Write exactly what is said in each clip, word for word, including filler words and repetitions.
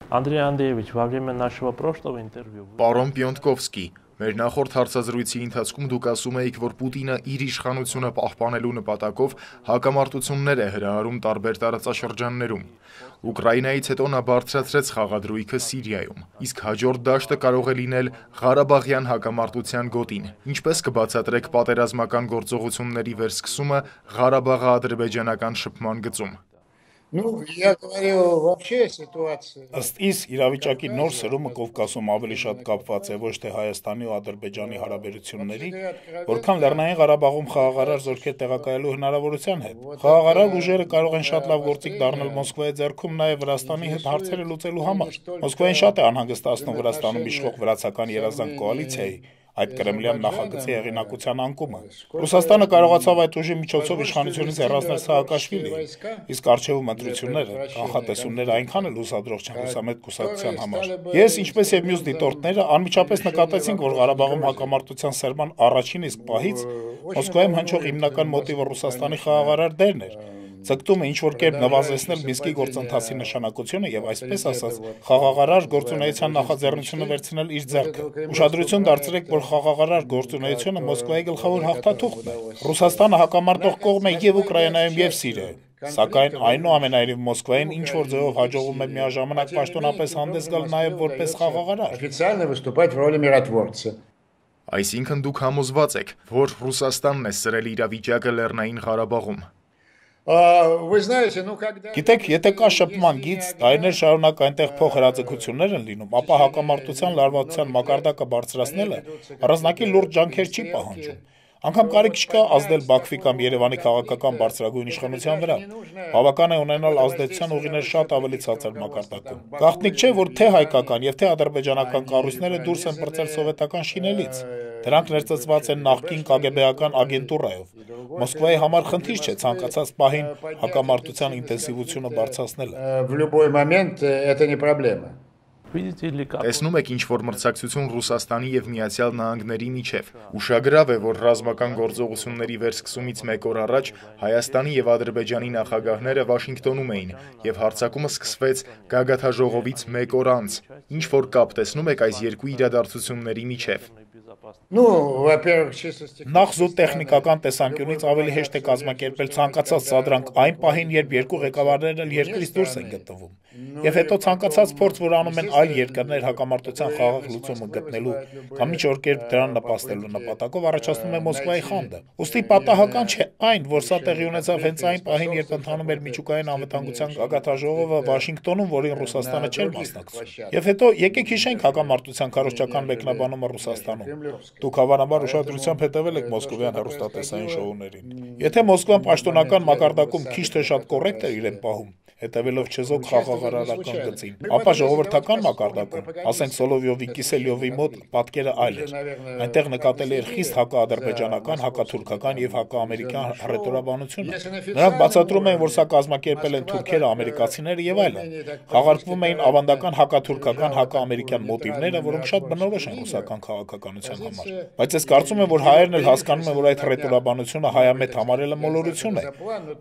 Андрей Андреевич, во время нашего прошлого интервью... Պարոն Պյոնտկովսկի, մեր նախորդ հարցազրույցի ընթացքում դուք ասում էիք, որ Պուտինը իր իշխանությունը պահպանելու նպատակով հակամարտություններ է հրահարում տարբեր տարածաշրջաններում։ Ուկրաինայից հետո նա բարձրացրեց խաղադրույքը Սիրիայում, իսկ հաջորդ դաշտը կարող է լինել Ղարաբաղյան հակամարտության գոտին։ Ինչպես կբացատրեք պատերազմական գործողությունների վերսկսումը Ղարաբաղի ադրբեջանական շփման գծում։ Ну, я говорю, вообще ситуация... Ըստ իս, իրավիճակի նոր սրումը Կովկասում ավելի շատ կապված է ոչ թե Հայաստանի ու Ադրբեջանի հարաբերությունների, որքան Լեռնային Ղարաբաղում խաղաղարար զորքեր տեղակայելու հնարավորության հետ։ Խաղաղարար ուժերը կարող են շատ լավ գործիք դառնալ Մոսկվայի ձեռքում նաև Վրաստանի հետ հարցերը լուծելու համար։ Մոսկվային շատ է անհանգստացնում Վրաստանում իշխող վրացական երազանք կոալիցիայի այդ կրեմլյան նախագծի հեղինակության անկումը։ Ռուսաստանը կարողացավ այդ ուժի միջոցով իշխանությունից հեռացնել Սաակաշվիլիին, իսկ առջևում ընտրությունները, կանխատեսումները այնքան էլ հուսադրող չեն լուսամետ կուսակցության համար։ Ես, ինչպես եւ մյուս դիտորդները, անմիջապես նկատեցինք, որ Ղարաբաղում հակամարտության սերման առաջին իսկ պահից Մոսկվայում հնչող հիմնական մոտիվը Ռուսաստանի խաղաղարար դերն էր։ Ցկտումը ինչ-որ կերպ նվազեցնել Մինսկի գործընթացի նշանակությունը եւ այսպես ասած խաղաղարար գործունեության նախաձեռնությունը վերցնել իր ձեռքը։ Ուշադրություն դարձրեք, որ խաղաղարար գործունեությունը Մոսկվայի գլխավոր հաղթաթուղթն է։ Ռուսաստանը հակամարտող կողմ է եւ Ուկրաինայում եւ Սիրիայում։ Սակայն այնուամենայնիվ Մոսկվային ինչ-որ ձևով հաջողվում է միաժամանակ պաշտոնապես հանդես գալ նաեւ որպես խաղաղարար։ Официально выступать в роли миротворца. Այսինքն դուք համոզված եք, որ Ռուսաստանն է սրել իրավիճակը Լեռնային Ղարաբաղում։ Գիտեք, եթե կա շփման գիծ, տարիներ շարունակ այնտեղ փոխհրաձգություններ են լինում, ապա հակամարտության լարվածության մակարդակը բարձրացնելը առանձնակի լուրջ ջանքեր չի պահանջում։ Անգամ կարիք չկա ազդել Բաքվի կամ Երևանի քաղաքական բարձրագույն իշխանության վրա։ Բավական է ունենալ ազդեցության ուղիներ շատ ավելի ցածր մակարդակում։ Գաղտնիք չէ, որ թե հայկական եւ թե ադրբեջանական կառույցները դուրս են պրծել սովետական շինելից։ Դրանք ներծծված են նախկին կագեբեական ագենտուրայով։ Մոսկվայի համար խնդիր չէ ցանկացած պահին հակամարտության ինտենսիվությունը բարձրացնելը։ В любой момент это не проблема. Տեսնում եք ինչ-որ մրցակցություն Ռուսաստանի եւ Միացյալ Նահանգների միջև։ Ուշագրավ է, որ ռազմական գործողությունների վերսկսումից մեկ օր առաջ Հայաստանի եւ Ադրբեջանի նախագահները Վաշինգտոնում էին եւ հարձակումը սկսվեց գագաթաժողովից մեկ օր անց։ Ինչ որ կապ տեսնում եք այս երկու իրադարձությունների միջև։ Ну, во-первых, чисто Նախ զուտ տեխնիկական տեսանկյունից ավելի հեշտ է կազմակերպել ցանկացած սադրանք այն պահին, երբ երկու ղեկավարներն երկրից դուրս են գտնվում։ Եվ հետո ցանկացած փորձ, որ անում են այլ երկրներ հակամարտության խաղաղ լուծումը գտնելու կամ ինչ որ կերպ դրան նպաստելու նպատակով առաջացնում է Մոսկվայի խանդը։ Ուստի պատահական չէ այն, որ սա տեղի ունեցավ հենց այն պահին, երբ ընթանում էր միջուկային անվտանգության գագաթաժողովը Վաշինգտոնում, որին Ռուսաստանը չէր մասնակցում։ Եվ հետո եկեք հիշենք հակամարտության քարոզչական մեկնաբանումը Ռուսաստանում։ Դուք հավանաբար ուշադրությամբ հետևել եք մոսկովյան հեռուստատեսային շոուներին։ Եթե Մոսկվան պաշտոնական մակարդակում քիչ թե շատ կոռեկտ է իրեն պահում, հետևելով չեզոք խաղաղարարական գծին, ապա ժողովրդական մակարդակում, ասենք Սոլովյովի, Կիսելյովի մոտ պատկերը այլ էր։ Այնտեղ նկատելի էր խիստ հակաադրբեջանական, հակաթուրքական եւ հակաամերիկյան հռետորաբանությունը։ Նրանք բացատրում էին, որ սա կազմակերպել են թուրքերը, ամերիկացիները եւ այլն։ Խաղարկվում էին ավանդական հակաթուրքական, հակաամերիկյան մոտիվները, որոնք շատ բնորոշ են ռուսական քաղաքականության համար։ Բայց ես կարծում եմ, որ հայերն էլ հասկանում են, որ այդ հռետորաբանությունը հայամետ համարելը մոլորություն է։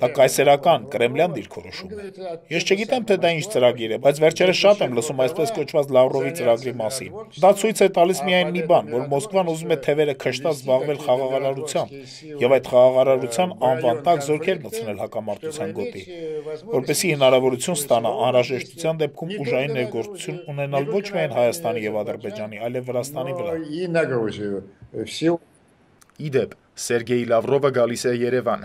Դա կայսերական, կրեմլյան դիրքորոշում է։ Ես չգիտեմ, թե դա ինչ ծրագիր է, բայց վերջերս շատ եմ լսում այսպես կոչված Լավրովի ծրագրի մասին։ Դա ցույց է տալիս միայն մի բան, որ Մոսկվան ուզում է թևերը քշտած զբաղվել խաղաղարարությամբ եւ այդ խաղաղարարության անվան տակ զորքեր մտցնել հակամարտության գոտի, որպեսզի հնարավորություն ստանա անհրաժեշտության դեպքում ուժային ներգործություն ունենալ ոչ միայն Հայաստանի եւ Ադրբեջանի, այլև Վրաստանի վրա։ Իդեպ, Սերգեյ Լավրովը գալիս է Երևան։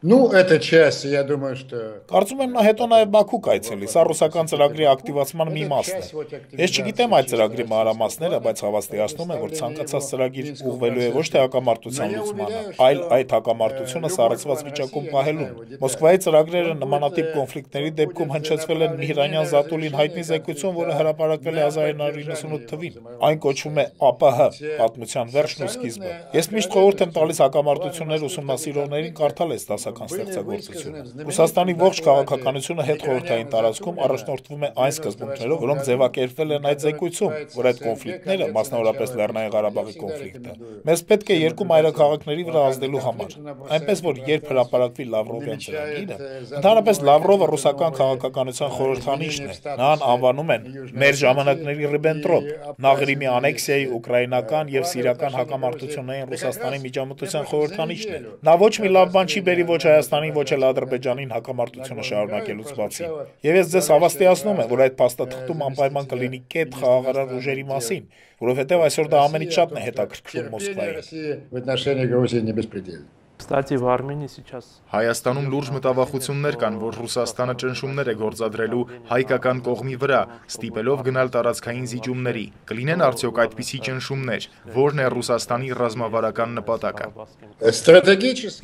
Ну, это часть, я думаю, что... Կարծում եմ նա հետո նաև Բաքու կայցելի, սա ռուսական ծրագրի ակտիվացման մի մասն է։ Ես չգիտեմ այդ ծրագրի մանրամասները, բայց հավաստիացնում եմ, որ ցանկացած ծրագիր ուղղվելու է ոչ թե հակամարտության լուծմանը, այլ այդ հակամարտությունը սառեցված վիճակում պահելուն։ Մոսկվայի ծրագրերը նմանատիպ կոնֆլիկտների դեպքում հնչեցվել են Միհրանյան Զատուլին հայտնի զեկույցում, որը հրապարակվել է հազար ինը հարյուր իննսունութ թվականին։ Այն կոչվում է ԱՊՀ, պատմության վերջն ու սկիզբը։ Ես միշտ խորհուրդ եմ տալիս հակամարտություններ ուսումնասիրողներին կարդալ այս ռուսական ստեղծագործությունը։ Ռուսաստանի ողջ քաղաքականությունը հետխորհրդային տարածքում առաջնորդվում է այն սկզբունքներով, որոնք ձևակերպվել են այդ զեկույցում, որ այդ կոնֆլիկտները, մասնավորապես Լեռնային Ղարաբաղի կոնֆլիկտը, մեզ պետք է երկու մայրաքաղաքների վրա ազդելու համար։ Այնպես որ երբ հրապարակվի Լավրովյան ծրագիրը, ընդհանրապես Լավրովը ռուսական քաղաքականության խորհրդանիշն է, նրան անվանում են մեր ժամանակների Ռիբենտրոպ, նա Ղրիմի անեքսիայի, ուկրաինական եւ սիրիական հակամարտություններին Ռուսաստանի միջամտության խորհրդանիշն է։ Նա ոչ մի լավ բան չի բերի ոչ Հայաստանին, ոչ էլ Ադրբեջանին հակամարտությունը շարունակելուց բացի։ Եւ ես ձեզ հավաստիացնում եմ, որ այդ փաստաթղթում անպայման կլինի կետ խաղաղարար ուժերի մասին, որովհետեւ այսօր դա ամենից շատն է հետաքրքրում Մոսկվային։ Кстати, в Армении сейчас Հայաստանում լուրջ մտավախություններ կան, որ Ռուսաստանը ճնշումներ է գործադրելու հայկական կողմի վրա, ստիպելով գնալ տարածքային զիջումների։ Կլինեն արդյոք այդպիսի ճնշումներ, որն է Ռուսաստանի ռազմավարական նպատակը։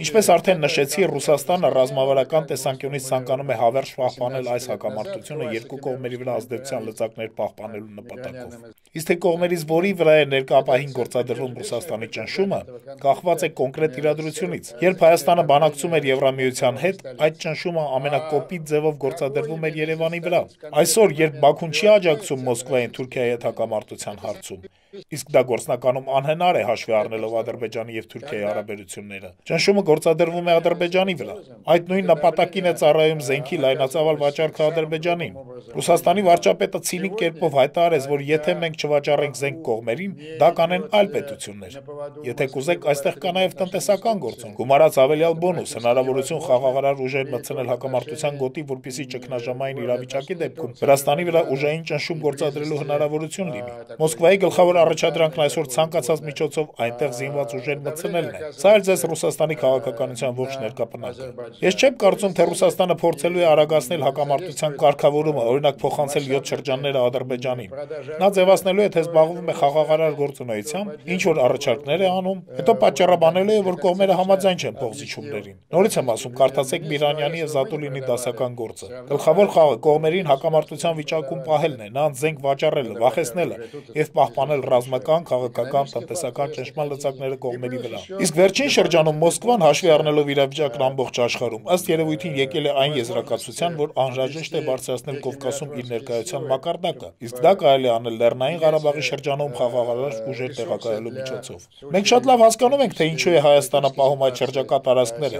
Ինչպես արդեն նշեցի, Ռուսաստանը ռազմավարական տեսանկյունից ցանկանում է հավերժ պահպանել այս հակամարտությունը երկու կողմերի վրա ազդեցության լծակներ պահպանելու նպատակով։ Իսկ թե կողմերից որի վրա է ներկայապահին գործադրվում Ռուսաստանի ճնշումը, կախված է կոնկրետ իրադրությունից։ Երբ Հայաստանը բանակցում էր Եվրամիության հետ, այդ ճնշումը ամենակոպիտ ձևով գործադրվում էր Երևանի վրա։ Այսօր, երբ Բաքուն չի աջակցում Մոսկվային Թուրքիայի հետ հակամարտության հարցում, իսկ դա գործնականում անհնար է հաշվի առնելով Ադրբեջանի եւ Թուրքիայի հարաբերությունները, ճնշումը գործադրվում է Ադրբեջանի վրա։ Այդ նույն նպատակին է ծառայում զենքի լայնածավալ վաճառքը Ադրբեջանին։ Ռուսաստանի վարչապետը ցինիկ կերպով հայտարարեց, որ եթե մենք չվաճառենք զենք կողմերին, դա կանեն այլ պետություններ։ Եթե կուզեք, այստեղ կա նաեւ տնտեսական գործոն, գումարած ավելյալ բոնուս, հնարավորություն խաղաղարար ուժեր մտցնել հակամարտության գոտի, որպեսզի ճգնաժամային իրավիճակի դեպքում Վրաստանի վրա ուժային ճնշում գործադրելու հնարավորություն լինի։ Մոսկվայի գլխավոր առաջադրանքն այսօր ցանկացած միջոցով այնտեղ զինված ուժեր մտցնելն է։ Սա էլ ձեզ Ռուսաստանի քաղաքականության ողջ ներկապնակը։ Ես չեմ կարծում, թե Ռուսաստանը փորձելու է արագացնել հակամարտության կարգավորումը, օրինակ փոխանցել յոթ շրջանները Ադրբեջանին։ Նա ձևացնելու է, թե զբաղվում է խաղաղարար գործունեությամբ, ինչ որ առաջարկներ է անում, հետո պատճառաբանելու է, որ կողմերը համաձայն չեն փոխզիջումներին։ Նորից եմ ասում, կարդացեք Միրանյանի եւ Զատուլինի դասական գործը։ Գլխավոր խաղը կողմերին հակամարտության վիճակում պահելն է, նրանց զենք վաճառելը, վախեցնելը եւ պահպանել ռազմական, քաղաքական, տնտեսական ճնշման լծակները կողմերի վրա։ Իսկ վերջին շրջանում Մոսկվան հաշվի առնելով իրավիճակն ամբողջ աշխարհում, ըստ երևույթին եկել է այն եզրակացության, որ անհրաժեշտ է բարձրացնել Կովկասում իր ներկայության մակարդակը, իսկ դա կարելի է անել Լեռնային Ղարաբաղի շրջանում խաղաղարար ուժեր տեղակայելու միջոցով։ Մենք շատ լավ հասկանում ենք, թե ինչու է Հայաստանը պահում այդ շրջակա տարածքները,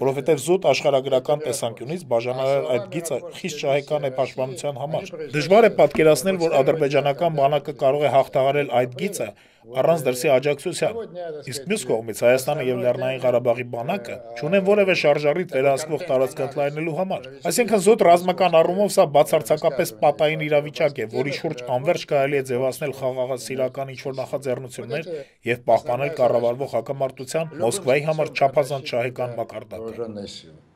որովհետև զուտ աշխարհագրական տեսանկյունից բաժանարար այդ գիծը խիստ շահեկան է պաշտպանության համար։ Դժվար է պատկերացնել, որ ադրբեջանական բանակը կարող է հաղթահարել այդ գիծը առանց դրսի աջակցության։ Իսկ մյուս կողմից Հայաստանը եւ Լեռնային Ղարաբաղի բանակը չունեն որևէ շարժառիթ վերահսկվող տարածք ընդլայնելու համար։ Այսինքն զուտ ռազմական առումով սա բացարձակապես պատային իրավիճակ է, որի շուրջ անverջ կարելի է ձևացնել խաղաղասիրական ինչ-որ նախաձեռնություններ եւ պահպանել կառավարվող հակամարտության Մոսկվայի համար չափազանց շահեկան մակարդակը։